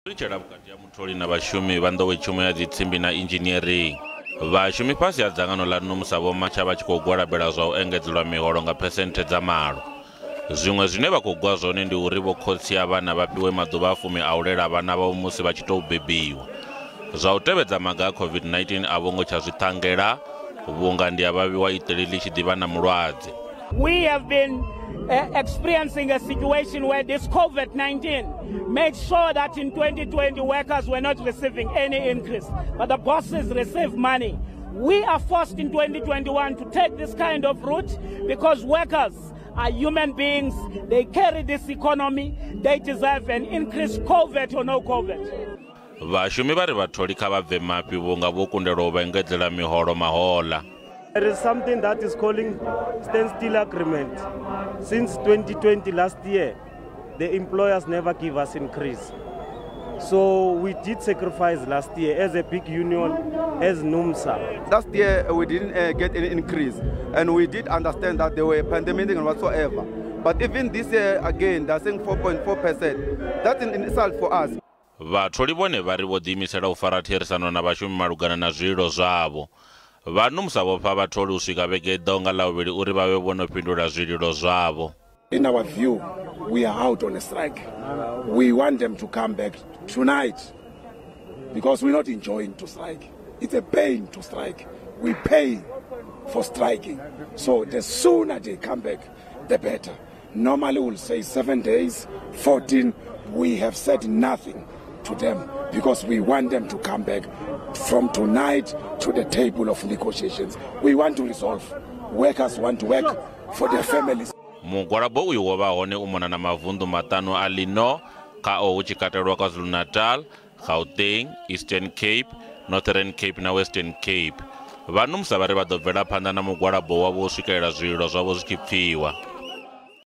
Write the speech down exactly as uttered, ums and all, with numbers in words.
Ri vhukati ha mutholi na vhashumi vha nḓowetshumo ya dzitsimbi na engineering. Vhashumi fhasi ha dzangano ḽa NUMSA vho matsha vha tshi khou gwalabela zwa u engedzelwa miholo nga phesenthe dza malo. Zwiṅwe zwine vha khou gwa zwone ndi uri vho khotsi a vhana vha fhiwe maḓuvha a fumi a u lela vhana vhavho musi vha tshi tou bebiwa. Zwa u tevhedza maga a COVID nineteen a vho ngo tsha zwi ṱangela vhunga ndi a vhavhiwa iṱeli ḽi tshi ḓivha na mulwadze. We have been uh, experiencing a situation where this COVID nineteen made sure that in twenty twenty workers were not receiving any increase, but the bosses received money. We are forced in twenty twenty-one to take this kind of route because workers are human beings. They carry this economy. They deserve an increase, COVID or no COVID. Vhashumi vha ri vhatholi kha vha bve mafhi vhunga vho kundelwa u vha engedzela miholo mahola. There is something that is calling standstill agreement. Since twenty twenty last year, the employers never give us increase. So we did sacrifice last year as a big union, as NUMSA. Last year we didn't uh, get any increase, and we did understand that there were pandemic and whatsoever. But even this year again, they're saying four point four percent. That's an insult for us. Vhatholi vhone vha ri vho ḓiimisela u fara therisano na vhashumi malugana na zwililo zwavho. Vha NUMSA vho fha vhatholi u swika vhege i ḓaho nga Ḽavhuvhili uri vha vhe vho no fhindula zwililo zwavho. In our view, we are out on a strike. We want them to come back tonight because we're not enjoying to strike. It's a pain to strike. We pay for striking. So the sooner they come back, the better. Normally we'll say seven days, fourteen. We have said nothing to them because we want them to come back from tonight to the table of negotiations. We want to resolve. Workers want to work for their families. Mugwalabo uyu wo vha hone u mona na mavunḓu maṱanu a ḽino khao hu tshi katelwa KwaZulu-Natal, Gauteng, Eastern Cape, Northern Cape na Western Cape. Vha NUMSA vha ri vha ḓo bvela phanḓa na mugwalabo wavho u swikelela zwililo zwavho zwi tshi pfiwa.